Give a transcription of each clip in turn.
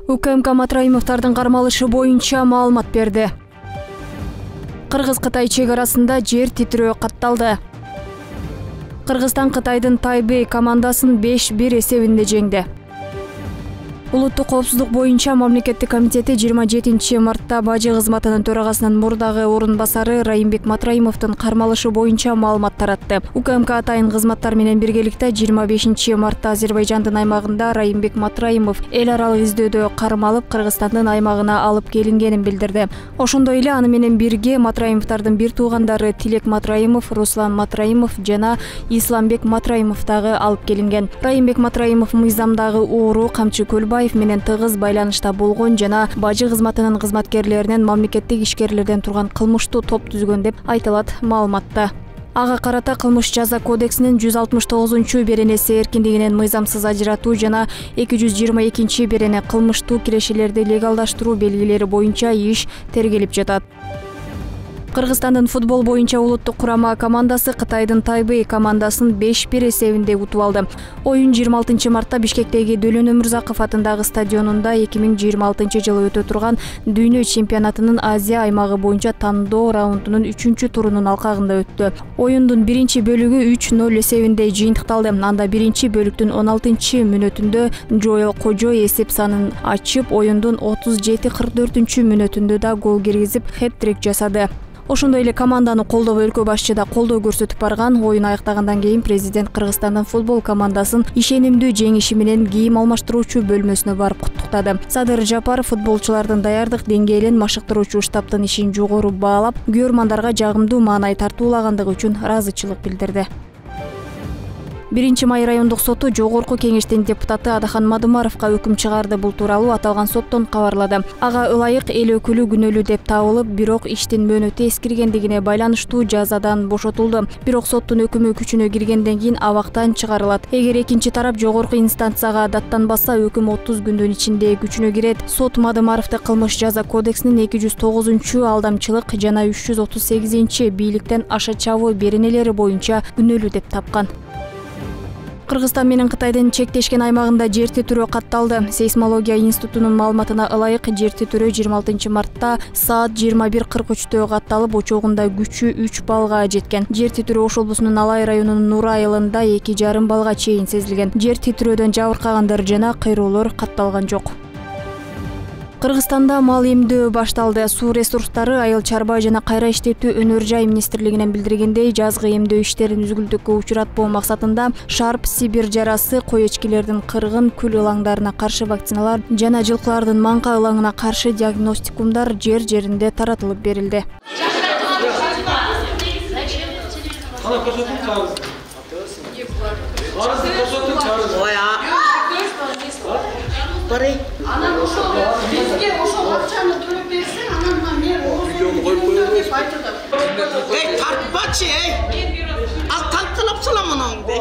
УКМК Матраимовдордун кармалышы боюнча маалымат берди. Кыргыз-Кытай чек арасында жер титирөө катталды. Кыргызстан Кытайдын Тайбэй командасын 5-1 эсебинде жеңди. Улуттук коопсуздук боюнча мамлекеттик комитети 27 мартта бажы кызматынын төрагасынын мурдагы орун басары Райымбек Матраимовдун кармалышы боюнча маалымат таратты. УКМК атайын кызматтар менен биргеликте 25 мартта Азербайжандын аймагында Райымбек Матраимов эл аралык издөөдө кармалып, Кыргызстандын аймагына алып келингенин билдирди. Ошондой эле аны менен бирге Матраимовдордун бир туугандары Тилек Матраимов, Руслан Матраимов жана Исламбек Матраимов дагы алып келинген. Райымбек Матраимов мыйзамдагы оору Камчы Көлбаев менен тыгыз байланышта болгон жана бажы кызматынын кызматкерлеринен мамлекеттик ишкерлерден турган кылмыштуу топ түзгөн деп айтылат маалыматта. Ага карата кылмыш жаза кодексинин 169-беренеси эркиндигинен мыйзамсыз ажыратуу жана 222-берене кылмыштуу кирешелерди легалдаштыруу белгилери боюнча иш тергелип жатат. Кыргызстандын футбол боюнча улуттук курама командасы Кытайдын Тайбэй командасын 5-1 эсебинде утуп алды. Оюн 26 мартта Бишкектеги Дөлөн Өмүрзаков атындагы стадионунда 2026 жылы өтө турган Дүйнө чемпионатынын Азия аймагы боюнча тандоо раундунун 3-турунун алкагында өттү. Оюндун биринчи бөлүгү 3-0 эсебинде жыйынтыкталды. Анда биринчи бөлүктүн 16-мүнөтүндө Жоэл Кожо эсеп санын ачып, оюндун 37-44-мүнөтүндө да гол киргизип, хэт-трик жасады. Ошондой эле команданы колдоо өлкө башчы да колдоо көрсөтүп барган. Оюн аяктагандан кийин президент Кыргызстандын футбол командасын ишенимдүү жеңиши менен кийим алмаштыруучу бөлмөсүнө барып куттуктады. Садыр Жапаров футболчулардын даярдык деңгээлин, машыктыруучу штабтын ишин жогору баалап, көрмандарга жагымдуу маанай тартуулагандыгы үчүн ыраазычылык билдирди. 1-Май райондук соту жогорку кеңештин депутаты Адахан Мадымаровго өкүм чыгарды. Бул тууралуу аталган соттон кабарлады. Ага ылайык эл өкүлү күнөөлүү деп табылып, бирок иштин мөөнөтү эскиргендигине байланыштуу жазадан бошотулду. Бирок соттун өкүмү күчүнө киргенден кийин абактан чыгарылат. Эгер экинчи тарап жогорку инстанцияга даттанбаса, өкүм 30 күндүн ичинде күчүнө кирет. Сот Мадымаровду кылмыш жаза кодексинин 209-алдамчылык жана 338 бийликтен аша чабуу беренелери боюнча күнөөлүү деп тапкан. Кыргызстан менен Кытайдын чектешкен аймагында жер титирөө катталды. Сейсмология институтунун маалыматына ылайык, жер титирөө 26 мартта саат 21:43 катталып, очогунда күчү 3 баллга жеткен. Жер титирөө Ош облусунун Алай районунун Нур айылында 2,5 баллга чейин сезилген. Жер титирөөдөн жабыркагандар жана кыйроолор катталган жок. Кыргызстанда мал эмдөө башталды. Суу ресурстары, айыл чарба жана кайра иштетүү өнөр-жай министрлигинен билдиргендей, жазгы эмдөө иштерин үзгүлтүккө учуратпоо максатында Шарп, Сибир жарасы, кой эчкилердин кыргын, күл ылаңдарына каршы вакциналар жана жылкылардын маңка ылаңына каршы диагностикумдар жер-жеринде таратылып берилди. Анан ошол бизге ошол акчаны төлөп берсең, анан мен видеону коюп коёбуз деп айтылды. Эй, тартпачы, ал танталап салам мунуңду.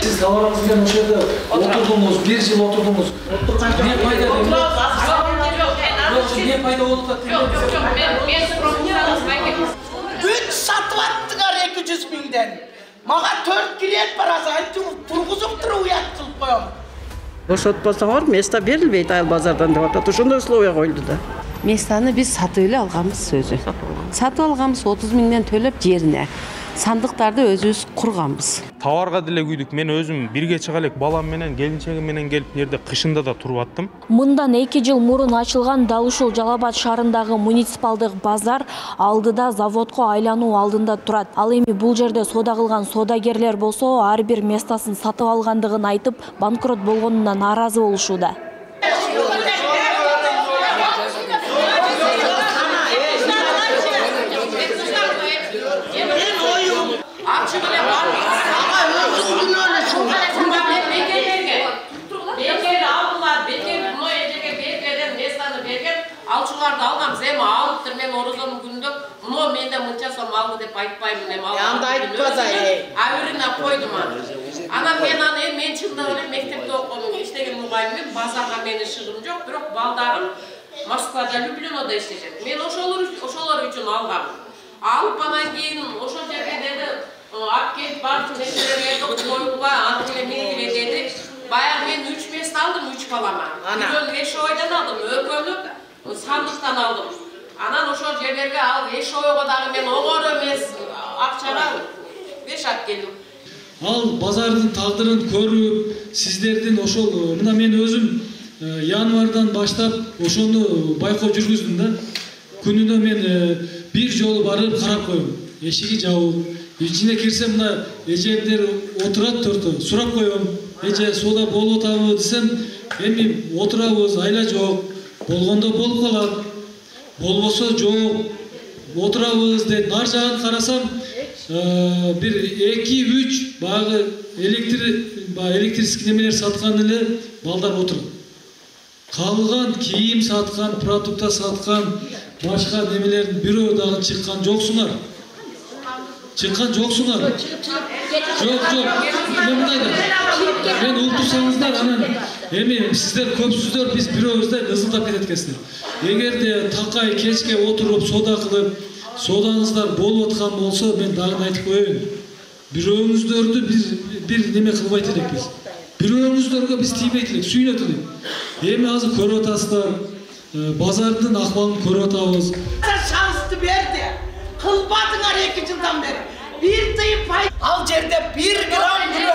Сиз товарыңыз менен ошол жерде отурдуңуз, 1 жыл отурдуңуз. Эмне пайда болду? Эмне пайда болду? Мен спрогнозировать. 3 сатып аттыңар 200 миңден. Мага 4 клиент бар, азыр тургузуп туруп уят кылып коём. Бошотпосоңор место берилбейт айыл базардан деп атат. Ошондой условия коюлду да. Местаны биз сатып эле алганбыз өзү. Сатып алганбыз 30 миңден төлөп жерине. Сандыктарды өзүбүз курганбыз. Товарга деле күйдүк. Мен өзүм бирге чыга элек балам менен, келинчегим менен келип жерде кышында да туруп аттым. Мындан 2 жыл мурун ачылган дал ушул Жалал Абад шаарындагы муниципалдык базар алдыда заводко айлануу алдында турат. Ал эми бул жерде соода кылган соодагерлер болсо, ар бир местасын сатып алгандыгын айтып, банкрот болгонуна нааразы болушууда. Алчуларды алганбыз, эми алыптыр, мен орозонун күнүндө муну менде мынча сом алды деп айтпаймын, эми алган. Анда айтпа да, абирине койдум аны. Анан мен чындап эле мектепте окудум, иштеген мугалимим, базарга менин шыгым жок, бирок балдарым Москвада, Люблинода иштешет. Мен ошолор үчүн алгам. Алып анан кийин ошол жерге деди, алып келип бардым, нерселерди коюлгула, аны менен миңгиле деди. Баягы мен 3 мест алдым 3 балама. Бирөөнү Эшойдон алдым, экөөнү сандыктан алдым. Анан ошол жерлерге алып Эшойго дагы мен огор эмес акчага 5 алып келдим. Ал базардын тагдырын көрүп, сиздердин ошол мына мен өзүм январдан баштап ошону байкоо жүргүздүм да. Күнүнө мен бир жолу барып карап коем. Эшиги жабык. Ичине кирсем мына эжемдер отурат төртөө. Сурап коем. Эже соода болуп атабы десем, эми отурабыз, айла жок. Болгондо болуп калат. Болбосо жок. Отурабыз деп нар жагын карасам, бир 2-3 баягы электрический немелер саткан эле балдар отурат. Калган кийим саткан, продукта саткан, башка немелердин бирөө дагы чыккан жоксуңар. Чыккан жоксуңар. Жок. Мен ултурсаңыздар, анан эми сиздер көпсүздөр, биз бирөөбүздөр ызылдап кетет экенсиздер. Эгерде такай кечке отуруп соода кылып, соодаңыздар болуп аткан болсо, мен дагы айтып коеюн. Бирөөңүздөрдү бир неме кылбайт элекпиз. Бирөөңүздөргө биз тийбейт элек, сүйнөт элек. Эми азыр көрүп атасыздар, базардын акыбалын көрүп атабыз. Шансты берди. Кылбадыңар 2 жылдан бери. Bir tıyı pay. Al жерде 1 gram gülü.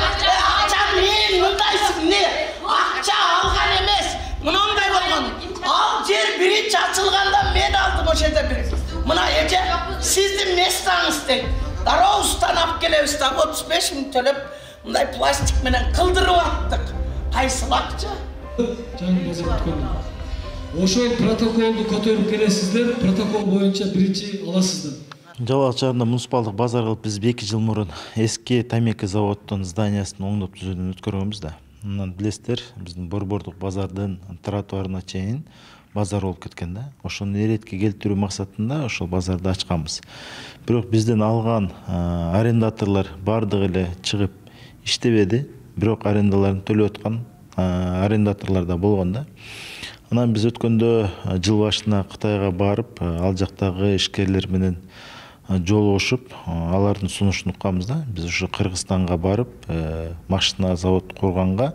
Акча мен мындайсың не? Акча алган эмес. Мынандай болгон. Ал жер биринчи ачылганда мен алдым ошол жерде бир. Мына эже сиздин местаңыз дейт. Дароустан алып келебиз да 35 миң төлөп мындай пластик менен кылдырып аттык. Кайсы акча? Ошол протоколду көтөрүп келесиздер, протокол боюнча биринчи аласыздар. Жалал шаарында муниципалдык базар кылып биз 2 жыл мурун эски Тамеки заводдун зданиясын оңдоп түзүүдөн өткөргөнбүз да. Анан билесиздер, биздин Борбордук базардын тротуарына чейин базар болуп кеткен да. Ошону эретке келтирүү максатында ошол базарды ачканбыз. Бирок бизден алган арендаторлор бардыгы эле чыгып иштебеди. Бирок арендаларын төлөп аткан арендаторлор да болгон да. Анан биз өткөндө жыл башына Кытайга барып, ал жактагы ишкерлер менен жолугушуп, алардын сунушун укканбыз да. Биз ушу Кыргызстанга барып, машина завод курганга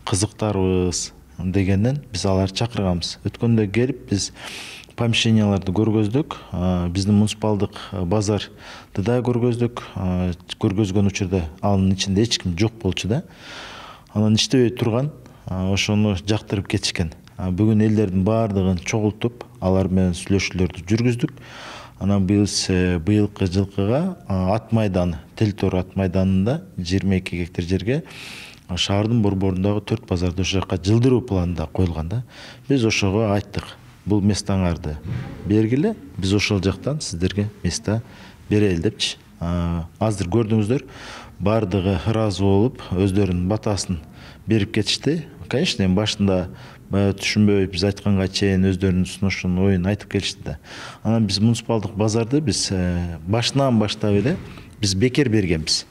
кызыктарбыз дегенден биз аларды чакырганбыз. Өткөндө келип биз помещенияларды көргөздүк. Биздин муниципалдык базарды да көргөздүк. Көргөзгөн учурда анын ичинде эч ким жок болчу да. Анан иштебей турган, ошону жактырып кетишкен. Бүгүн элдердин баардыгын чогултуп, алар менен сүйлөшүүлөрдү жүргүздүк. Анан биз быйылкы жылкыга ат майданы, Телтор ат майданында 22 гектар жерге шаардын борборундагы 4 базарды ошол жака жылдыруу планында коюлган да. Биз ошого айттык, бул местаңарды бергиле, биз ошол жактан сиздерге места берели депчи. Азыр көрдүңүздөр, баардыгы ыраазы болуп, өздөрүнүн батасын берип кетишти. Конечно, башында түшүнбөй биз айтканга чейин өздөрүнүн сунушун, оюн айтып келишти да. Анан биз муниципалдык базарды биз башынан баштап эле биз бекер бергенбиз.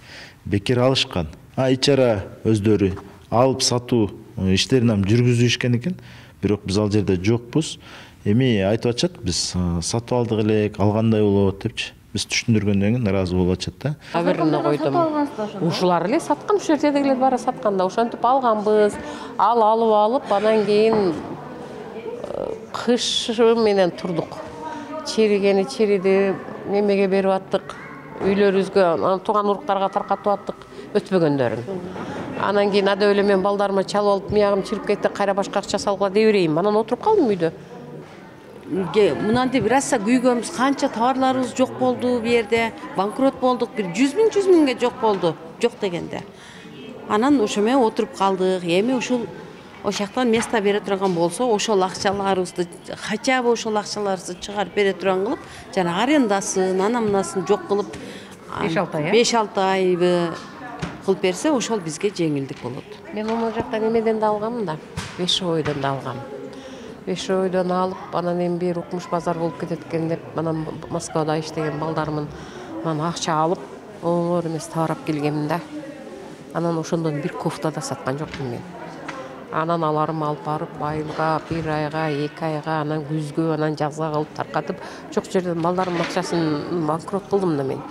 Бекер алышкан. Ичара өздөрү алып сатуу иштерин жүргүзүшкен экен. Бирок биз ал жерде жокпуз. Эми айтып атышат, биз сатып алдык элек, алгандай болот депчи. Биз түшүндүргөндөн кийин ыраазы болуп атышат да. Аберине койдум. Ушулар эле саткан, ушул жерде эле бара сатканда ошентип алганбыз. Алып, анан кийин кыш менен турдук. Чиригени чириди, немеге берип аттык. Үйлөрүбүзгө, тууган уруктарга таркатып аттык, өтпөгөндөрүн. Анан кийин ада эле мен балдарыма чалып алып, миягым чирип кетти, кайра башка акча салгыла дей берейин. Анан отуруп калдым үйдө. Мынантип раса күйгөнбүз, канча товарларыбыз жок болду бу жерде, банкрот болдук, бир 100 миңге жок болду, жок дегенде. Анан ошо менен отуруп калдык. Эми ушул ошактан место бере турган болсо, ошол акчаларыбызды, хотя бы ошол акчаларыбызды чыгарып бере турган кылып, жана арендасын, анамынасын жок кылып 5-6 айбы кылып берсе, ошол бизге жеңилдик болот. Мен могу жакта немеден да алгам да, Бешойдон да алгам. Бешойдон алып, анан эми бир укмуш базар болуп кетет экен деп, анан Москвада иштеген балдарымын акча алып, оңор эмес товарап келгемин да. Анан ошондон бир кофта да саткан жокмун мен. Анан аларым алып барып, айылга, 1 айга, 2 айга, анан күзгө, анан жазга кылып таркатып, жок жерден балдарымдын акчасын банкрот кылдым да мен.